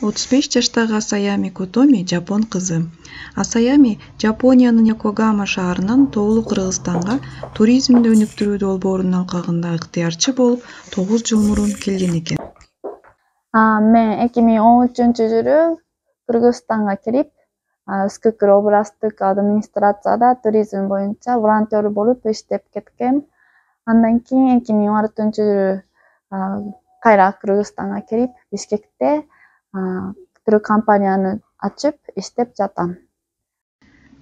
35 жаштагы Асаями Котоми жапон кызы. Асаями Жапониянын Йокогама шаарынан Тоолуу Кыргызстанга туризмди өнүктүрүүдө долбоорунун алкагында ыктыярчы болуп 9 жыл мурун келген экен. Мен 2013-жылы Кыргызстанга келип, Үскүкүр областтык администрацияда туризм боюнча волонтер болуп иштеп кеткем. Андан кийин 2014-жылы кайра Кыргызстанга келип, Бишкекте туркомпанияны ачып иштеп жатам.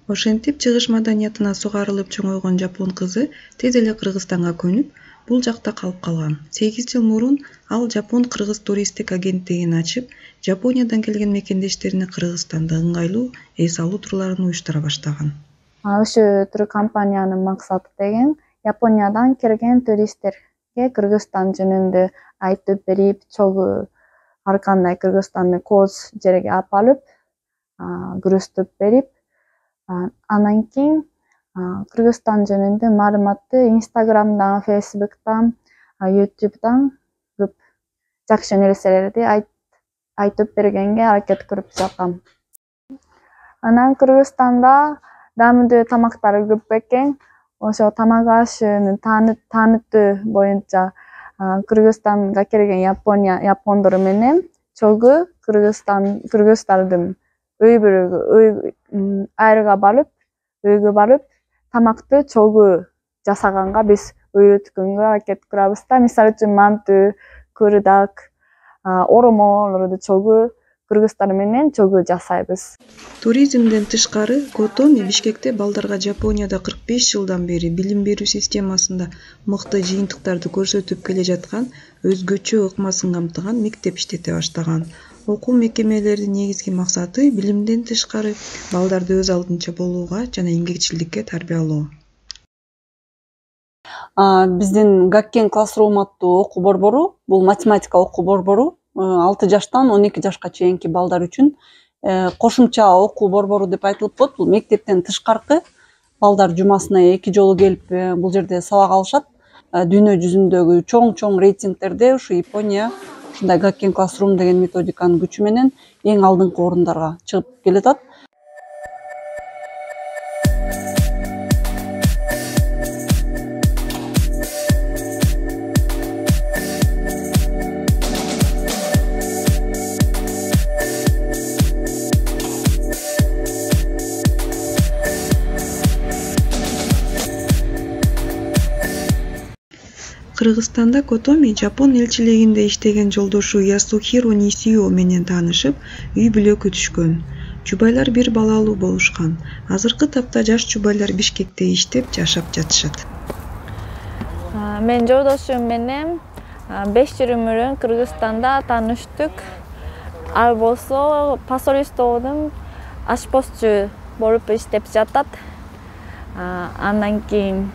Ошентип чыгыш маданиятына сугарылып чоңойгон жапон кызы тез эле Кыргызстанга көнүп, бул жакта калып калган. 8 жыл мурун ал Жапон-Кыргыз туристтик агенттигин ачып, Жапониядан келген мекендештерине Кыргызстанда ыңгайлуу эс алуу турларын уюштура баштаган. Ошо туркомпаниянын максаты деген Япониядан келген туристтерге Кыргызстан жөнүндө айтып берип, чогуу ар кандай Кыргызстанды кооз жерге алып барып, көрсөтүп берип, андан кийин Кыргызстан жөнүндө маалыматты Instagram'дан, Facebook'тан, YouTube'дан көп жакшы нерселерди айтып бергенге аракет кылып жатам. Анан Кыргызстанда даамдуу тамактары көп экен. Ошо тамак ашыны таанытуу боюнча Кыргызстанга келген япондор менен чогуу кыргыздардын айрга барып, өйгө барып, тамакты чогуу жасаганга биз үйрөткөнгө аракет кылабыз да. Мисалы үчүн манту, кырдак, оромолорду чогуу кыргыздар менен чогуу жасайбыз. Туризмден тышкары Котоми Бишкекте балдарга Жапонияда 45 жылдан бери билим берүү системасында мыкты жыйынтыктарды көрсөтүп келе жаткан өзгөчө ыкмасын камтыган мектеп иштете баштаган. Окуу мекемелеринин негизги максаты билимден тышкары балдарды өз алдынча болууга жана эмгекчилдикке тарбиялоо. Биздин Гаккен Classroom аттуу окуу борбору бул математика окуу борбору 6 жаштан 12 жашка чейинки балдар үчүн кошумча окуу борбору деп айтылып коет. Бул мектептен тышкаркы балдар жумасына 2 жолу келип бул жерде сабак алышат. Дүйнө жүзүндөгү чоң рейтингтерде ушу Япония ушундай Гаккен Classroom деген методиканын күчү менен эң алдыңкы орундарга чыгып келатат. Кыргызстанда Котоми Жапон элчилигинде иштеген жолдошу Ясухиро Нисио менен таанышып, үй бүлөккө түшкөн. Жубайлар бир балалуу болушкан. Азыркы тапта жаш жубайлар Бишкекте иштеп, жашап жатышат. Мен жолдошум менен 5 жыл мурун Кыргызстанда тааныштык. Ал болсо посольстводун ашпозчу болуп иштеп жатат. Андан кийин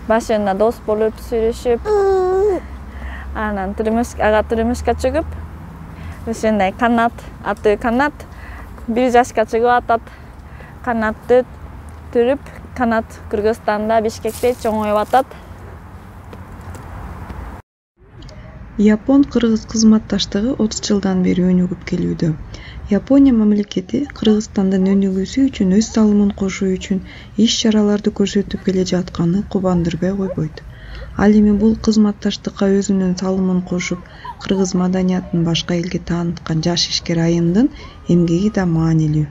башында дос болуп сүйлөшүп, анан турмушка чыгып, ушундай канат 1 жашка чыгып атат. Канатты түрүп, канат Кыргызстанда Бишкекте чоңоюп атат. Япон-кыргыз кызматташтыгы 30 жылдан бери өнүгүп келүүдө. Япония мамлекети Кыргызстандын өнүгүүсү үчүн өз салымын кошуу үчүн иш-чараларды көрсөтүп келе жатканы кубандырбай койбойт. Ал эми бул кызматташтыкка өзүнүн салымын кошуп, кыргыз маданиятын башка элге тааныткан жаш ишкер айымдын эмгеги да маанилүү.